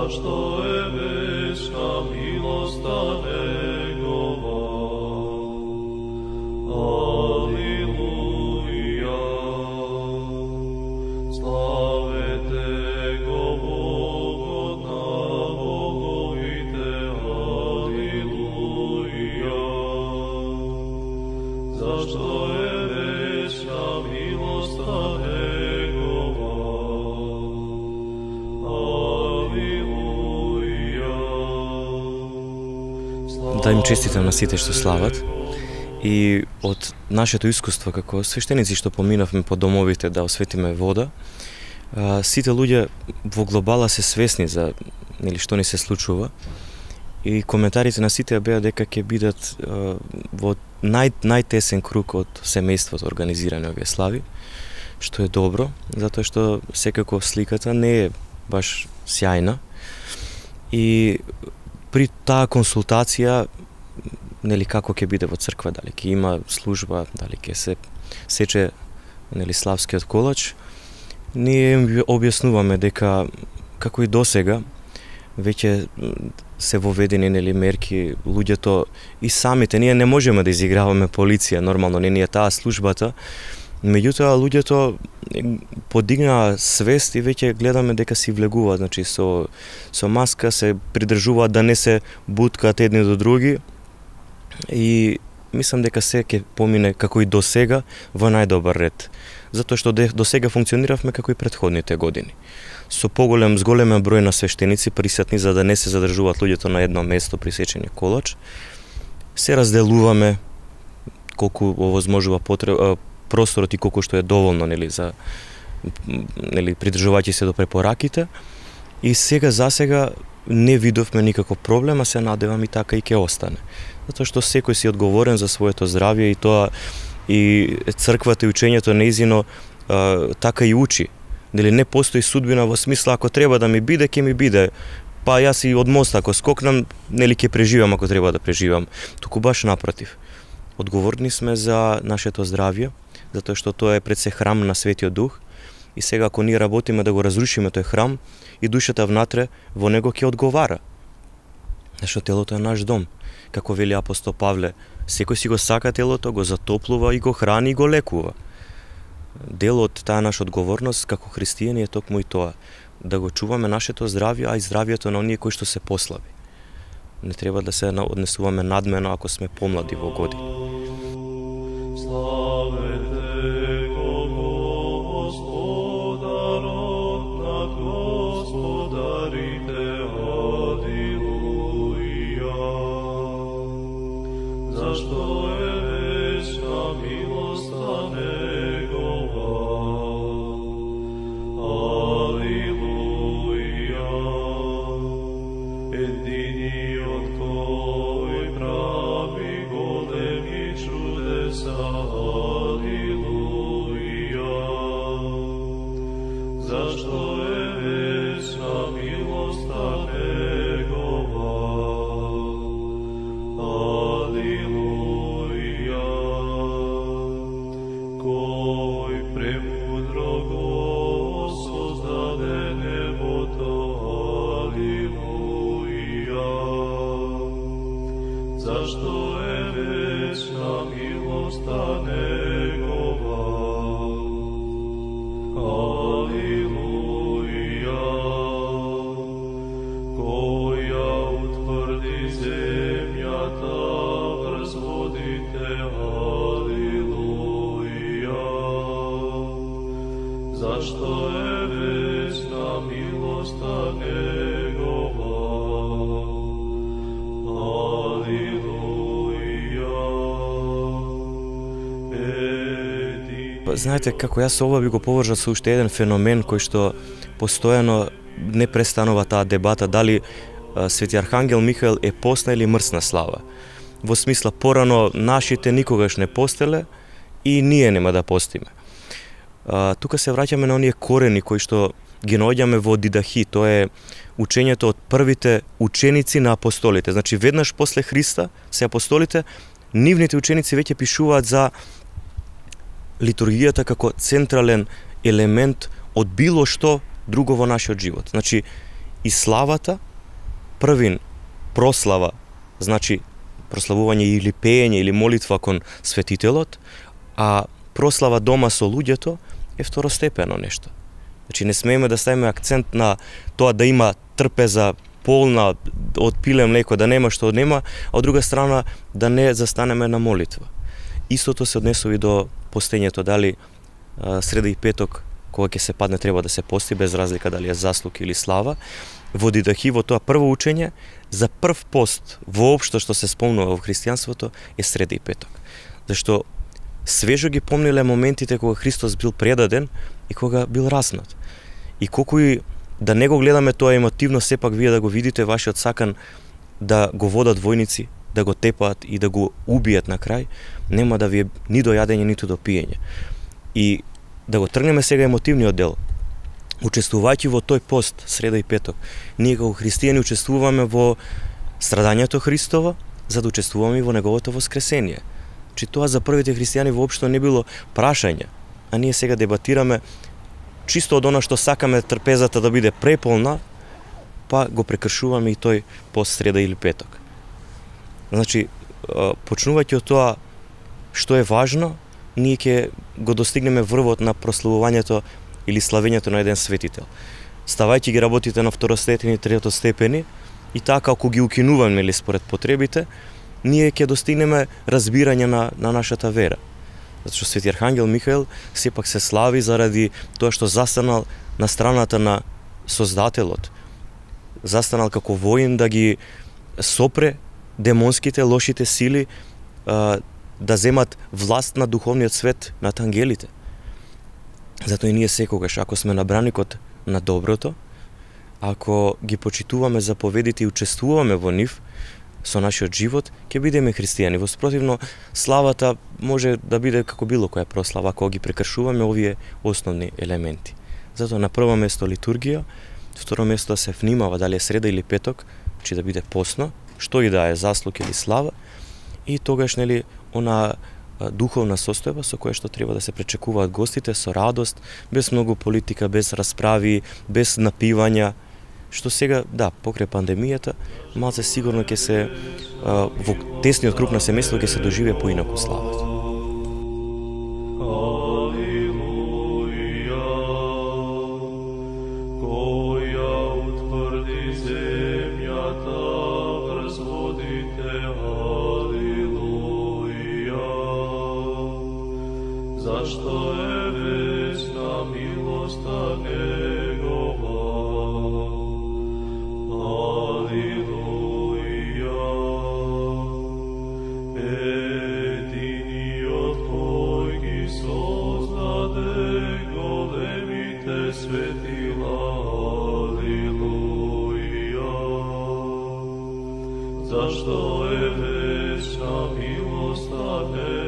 Зашто е вечна милоста Негова. Алилуја. Славете го Богот на боговите. Алилуја. Зашто е вечна милоста Негова. Да им честитам на сите што слават. И од нашето искуство како свештеници што поминавме по домовите да осветиме вода, сите луѓе во глобала се свесни за што ни се случува. И коментарите на сите беа дека ќе бидат во најтесен круг од семејството организирани овие слави, што е добро, затоа што секако сликата не е баш сјајна. И при таа консултација, како ќе биде во црква, дали ќе има служба, дали ќе се сече славскиот колач, ние им објаснуваме дека како и досега веќе се воведени мерки, луѓето и самите, ние не можеме да изиграваме полиција, нормално не ни е таа службата, меѓутоа луѓето подигнаа свест и веќе гледаме дека си влегуваат, значи со маска се придржуваат да не се буткаат едни до други и мислам дека се ќе помине како и досега во најдобар ред, затоа што досега функциониравме како и претходните години. Со зголемен број на свештеници присутни за да не се задржуваат луѓето на едно место при сечење колач. Се разделуваме колку овозможува просторот и колку што е доволно за придржувајќи се до препораките. И засега не видовме никаков проблем, а се надевам и така и ќе остане. Затоа што секој си одговорен за своето здравје и тоа и црквата и учењето неизино така и учи. Не постои судбина во смисла ако треба да ми биде, ќе ми биде. Па јас и од моста ако скокнам, ќе преживам ако треба да преживам. Туку баш напротив. Одговорни сме за нашето здравје, затоа што тоа е пред се храм на Светиот Дух и сега ако ние работиме да го разрушиме тој храм и душата внатре во него ќе одговара. Зашто телото е наш дом. Како вели апостол Павле, секој си го сака телото, го затоплува и го храни и го лекува. Дел од таа наша одговорност како христијани е токму и тоа, да го чуваме нашето здравје, а и здравјето на оние кои што се послаби. Не треба да се однесуваме надмено ако сме помлади во години. Славете го Господарот над господарите. Алилуја. Зашто е вечна милоста Негова. Алилуја. Единиот кој прави големи чудеса. Алилуја. Зашто е вечна милоста Негова. Алилуја. Кој премудро го создаде небото. Алилуја. Зашто е вечна милоста Негова. Алилуја. Кој ја утврди земјата врз водите. Алилуја. Зашто е вечна милоста Негова. Знаете, како јас ова би го поврзал со уште еден феномен кој што постојано не престанува таа дебата дали Свети Архангел Михаел е посна или мрсна слава. Во смисла порано нашите никогаш не постеле и ние нема да постиме. Тука се враќаме на оние корени кои што ги наоѓаме во Дидахи, тоа е учењето од првите ученици на апостолите. Значи веднаш после Христа се апостолите, нивните ученици веќе пишуваат за литургијата како централен елемент од било што друго во нашиот живот. Значи, и славата, првин прослава, значи прославување или пеење или молитва кон светителот, а прослава дома со луѓето е второстепено нешто. Значи не смееме да ставиме акцент на тоа да има трпеза полна од пиле млеко, да нема што нема, а од друга страна да не застанеме на молитва. Истото се однесува и до постењето, дали среда и петок кога ќе се падне треба да се пости без разлика дали е заслуг или слава. Во Дидахи, во тоа прво учење, за прв пост воопшто што се спомнува во христијанството е среда и петок. Зашто свежо ги помниле моментите кога Христос бил предаден и кога бил разнат. И колку и да не го гледаме тоа емотивно, сепак вие да го видите вашиот сакан да го водат војници, да го тепаат и да го убијат на крај, нема да ви е ни до јадење, ниту до пиење. И да го тргнеме сега емотивниот дел. Учествувајќи во тој пост, среда и петок, ние како христијани учествуваме во страдањето Христово, за да учествуваме и во неговото воскресение. Че тоа за првите христијани воопшто не било прашање, а ние сега дебатираме чисто од она што сакаме трпезата да биде преполна, па го прекршуваме и тој пост среда или петок. Значи, почнувајќи од тоа што е важно, ние ќе го достигнеме врвот на прославувањето или славењето на еден светител. Ставајќи ги работите на второстепени и третостепени, и така ако ги укинуваме или според потребите, ние ќе достигнеме разбирање на нашата вера. Затоа што Свети Архангел Михаел сепак се слави заради тоа што застанал на страната на Создателот. Застанал како воин да ги сопре демонските, лошите сили, да земат власт на духовниот свет над ангелите. Затоа и ние секогаш, ако сме на браникот на доброто, ако ги почитуваме заповедите и учествуваме во нив со нашиот живот, ќе бидеме христијани. Во спротивно, славата може да биде како било која прослава, ако ги прекршуваме овие основни елементи. Затоа на прво место литургија, второ место се внимава дали е среда или петок, че да биде постно, што и да е заслуг или слава, и тогаш нели она духовна состојба со која што треба да се пречекуваат гостите со радост, без многу политика, без расправи, без напивања, што сега, да, покрај пандемијата, малце сигурно ќе се во тесниот круг на семејство ќе се доживее поинаку славата. Зашто е вечна милоста Негова. Алилуја. Единиот кој ги создаде големите светила. Алилуја. Зашто е вечна милоста Негова.